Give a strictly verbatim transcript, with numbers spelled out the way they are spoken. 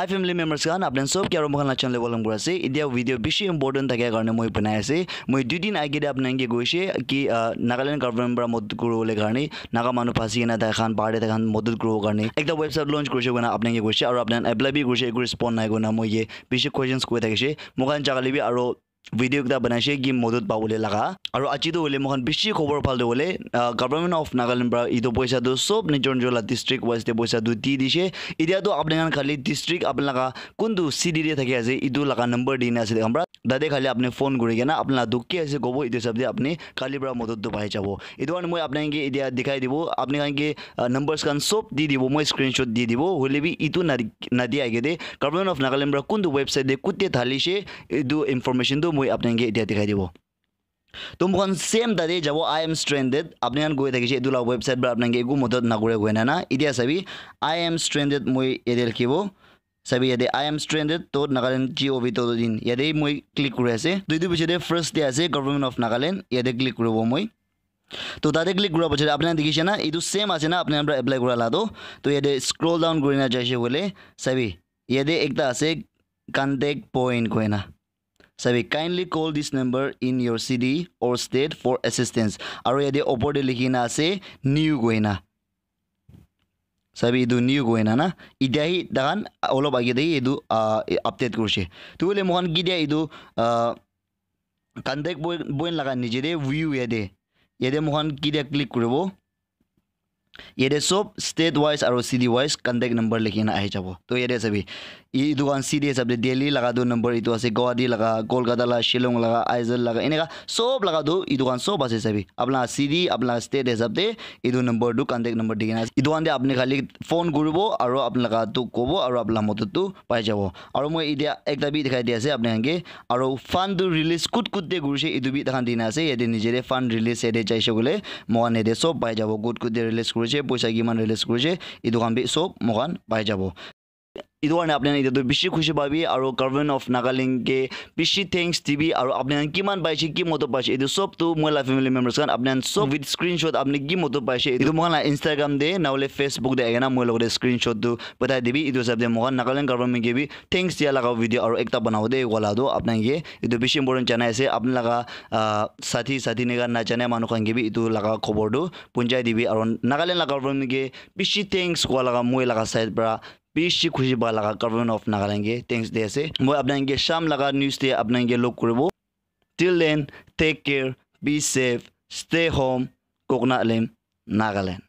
Family members khan, apni sob ke aro moikhan la channel te welcome kuri ase. Etia video bishi important thaka karne moi banai ase. Moi dui din age te apni ke koise ki, ah, Nagaland government para madad kuribole karne, Naga manu phasi kena tai khan bahar te tai khan madad kuribo karne ekta website launch kurise koina apni ke koise, aro apni apply bi kurise, eku respond nai koina moi ke bishi questions koi thakise. Moikhan jaga le bi aro video ekta banai ase ki madad pabole laga. Aro aji tu hoile moikhan bishi khobor bhal tu hoile, ah, Government of Nagaland para etu poisa tu sob nijor nijor la district wise te poisa tu di dise. Etia tu apni khan khali district apni laga kuntu city te thaki ase, etu laga number di na ase taikhan para. Tate khali apni phone kuri kena apni la dukh ki ase kobo, etu hisab te apni kali para madad tu pai jabo. Etu karne moi apni ke etia dikhai dibo, apni khan ke, ah, numbers khan sob di dibo, moi screenshot di dibo. Hoile bi etu na, na dia age te Government of Nagaland para kuntu website te kute dhalishe, etu information tu moi apni ke etia dikhai dibo. To moikhan same tate jabo, I am stranded. Apni khan koi thakise etu la website para apni ke eku madad nakore koi na na. Etia sabi, I am stranded moi yate likhibo. Sabi yate, I am stranded to Nagaland G O V dot in. Yate moi click kuri ase. To etu piche te first te ase Government of Nagaland. Yate click kuribo moi. To tate click kura piche te apni khan dikhise na, etu same ase na apni khan para apply kura la to. To yate scroll down kuri na jaise koile, sabi, yate ekta ase contact point koi na. Sabi, kindly call this number in your city or state for assistance. Aro yate opor te likhi na ase new koi na. Sabi, etu new koi na na. Etia hi tahan olop age te hi etu, ah, update kurise. Tu hoile moikhan ketia etu, ah, contact point, point laga niche te view yate. Yate moikhan ketia click kuribo. Yate sob state wise aro city wise contact number likhi na ahi jabo. To yate sabi, e-, etu khan city hisab te Delhi laga tu number etu ase, Guwahati laga, Kolkata laga, Shillong laga, Aizawl laga, eneka sob laga tu etu khan sob ase sabi. Apni laga city, apni laga state hisab te etu number tu contact number di kena ase. Etu khan te apni khali phone kuribo aro apni laga tu kobo aro apni laga madad tu pai jabo. Aro moi etia ekta bi dikhai di ase apni khan ke. Aro fund tu release kut kut te kurise etu bi tahan di na ase. Yate niche te fund release yate jaise koile moikhan yate sob pai jabo. Kut kut te release kurise, poisa kiman release kurise, etu khan bi sob moikhan pai jabo. Etu karne apni khan etia tu bishi khushi pabi aro Government of Nagaland ke bishi thanks dibi aro apni khan kiman paise, ki madad paise, etu sob tu moi la family members khan apni khan sob with screenshot apni ki madad paise, etu moikhan la Instagram te na hoile Facebook te ahi kena moi logote screenshot tu pathai dibi. Etu hisab te moikhan Nagaland government ke bi thanks dia laga video aro ekta banabo de wala tu apni khan ke etu bishi important janai ase. Apni laga, ah, sathi sathi neka na jane manu khan ke bi etu laga khobor tu punjai dibi aro Nagaland laga government ke bishi thanks koa laga moi laga side para bishi khushi pa laga Government of Nagaland ke thanks di ase. Moi apni khan ke sham laga news te apni khan ke log kuribo. Till then, take care, be safe, stay home, Koknalim, Nagaland.